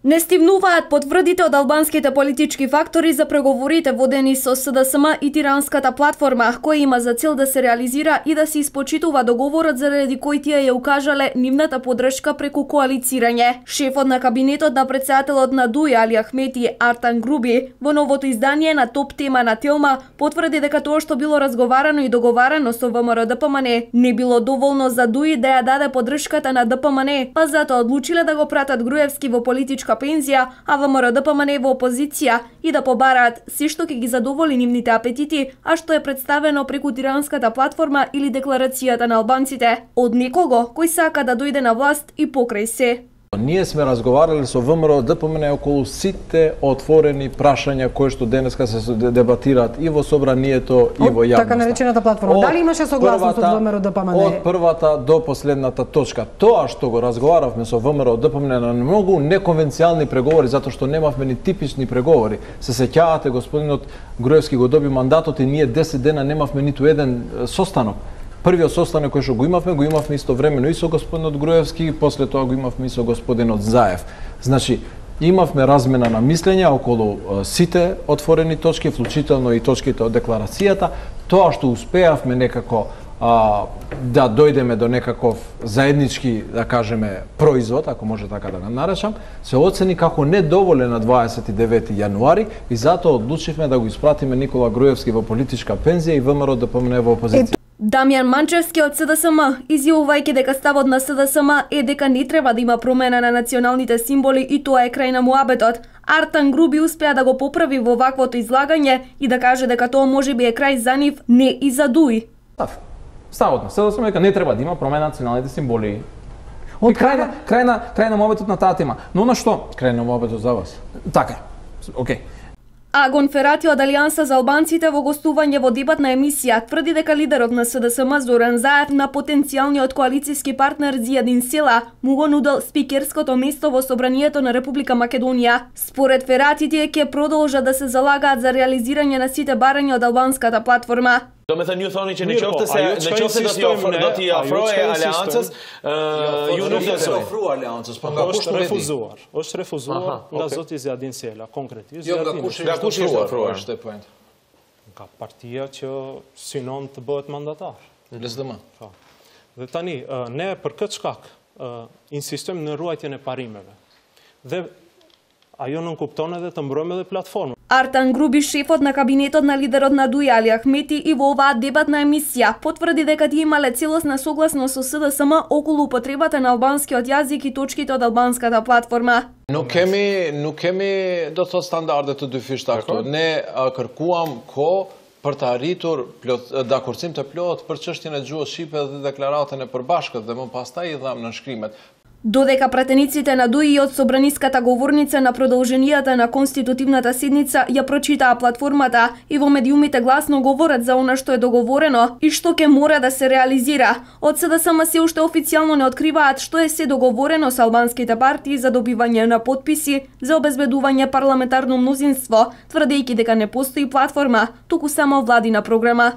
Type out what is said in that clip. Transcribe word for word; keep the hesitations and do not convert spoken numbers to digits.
Не стивнуваат потврдите од албанските политички фактори за преговорите водени со С Д С М и Тиранската платформа, која има за цел да се реализира и да се испочитува договорот заради кој тие ја укажале нивната поддршка преку коалицирање. Шефот на кабинетот на претседателот на ДУИ Али Ахмети Артан Груби во новото издание на Топ тема на Телма потврди дека тоа што било разговарано и договарано со В М Р Д П М Н не било доволно за ДУИ да ја даде поддршката на Д П М Н, па затоа одлучиле да го пратат Груевски во политичка пензија, а В М Р Д П М Н во опозиција и да побараат се што ќе ги задоволи нивните апетити, а што е представено преку Тиранската платформа или декларацијата на албанците од некого кој сака да дојде на власт и покрај се. Ние сме разговарали со В М Р Д П М Н околу сите отворени прашања кои што денеска се дебатираат и во собранието и во јавноста. Така наречената платформа. Дали имаше согласност од В М Р Д П М Н? Од првата до последната точка. Тоа што го разговаравме со В М Р Д П М Н на многу неконвенцијални преговори, затоа што немавме ни типични преговори. Се сеќавате, господинот Груевски го доби мандатот и ние десет дена немавме ниту еден состанок. Првиот состанок кој што го имавме, го имавме истовремено и со господинот Груевски, и после тоа го имавме и со господинот Заев. Значи, имавме размена на мислења околу сите отворени точки, вклучително и точките од декларацијата. Тоа што успеавме некако а, да дојдеме до некаков заеднички, да кажеме, производ, ако може така да го наречам, се оцени како недоволен на дваесет и девети јануари и затоа одлучивме да го испратиме Никола Груевски во политичка пензија и В М Р Д П М Н во опозиција. Дамјан Манчевски од С Д С М, изјавувајќи дека ставот на С Д С М е дека не треба да има промена на националните символи и тоа е крај на муабетот. Артан Груби успеа да го поправи во ваквото излагање и да каже дека тоа можеби е крај за нив, не и за ДУИ. Ставот на С Д С М е дека не треба да има промена на националните символи. Од крај на крај на крај на муабетот на таа тема. Но на што? Крај на муабетот за вас. Така. Океј. Агон Ферати од Алијанса за албанците во гостување во дебатна емисија тврди дека лидерот на С Д С М Зоран Заев на потенцијалниот коалициски партнер Зијадин Села му го нудел спикерското место во собранието на Република Македонија. Според Ферати тие ќе продолжат да се залагаат за реализирање на сите барања од албанската платформа. Do me thënë ju thoni që në qoftë se në qoftë do t'i ofro, do t'i ofroje aleancës, ju nuk do të ofruar aleancës, po nga kush është refuzuar. Është refuzuar nga zoti Zjadin Sela, konkretisht. Jo, nga kush nga kush është ofruar, është point. Nga partia që synon të bëhet mandatar. L S D M. Po. Dhe tani ne për këtë shkak insistojmë në ruajtjen e parimeve. Dhe ajo nuk kupton edhe të mbrojmë edhe platformën. Артан Груби, шефот на кабинетот на лидерот на ДУИ Али Ахмети, и во оваа дебатна емисија потврди дека тие имале целосна согласност со С Д С М околу употребата на албанскиот јазик и точките од албанската платформа. Nuk kemi nuk kemi do të thotë standarde të dyfishta këtu. Ne kërkuam kohë për të arritur dakordsim të plot për çështjen e gjuhës shqipe dhe deklaratën e përbashkët dhe më pastaj i dham në shkrimet. Додека пратениците на ДУИ од собраниската говорница на продолженијата на конститутивната седница ја прочитаа платформата и во медиумите гласно говорат за она што е договорено и што ќе мора да се реализира. Од С Д С М се уште официјално не откриваат што е се договорено со албанските партии за добивање на потписи за обезбедување парламентарно мнозинство, тврдејќи дека не постои платформа, туку само владина програма.